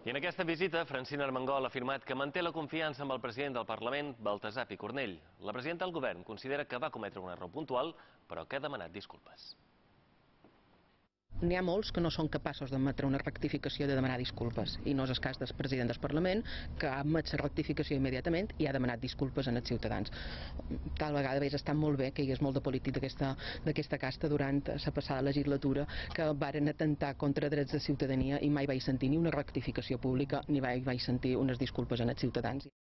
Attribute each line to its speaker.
Speaker 1: I en aquesta visita, Francina Armengol ha afirmat que manté la confiança amb el president del Parlament, Baltasar Picornell. La presidenta del govern considera que va cometre un error puntual, però que ha demanat disculpes.
Speaker 2: N'hi ha molts que no són capaços d'admetre una rectificació de demanar disculpes, i no és el cas del president del Parlament, que ha admet la rectificació immediatament i ha demanat disculpes als ciutadans. Tal vegada hauria estat molt bé que hi hagués molt de polític d'aquesta casta durant la passada legislatura que varen atentar contra drets de ciutadania i mai vaig sentir ni una rectificació pública ni vaig sentir unes disculpes als ciutadans.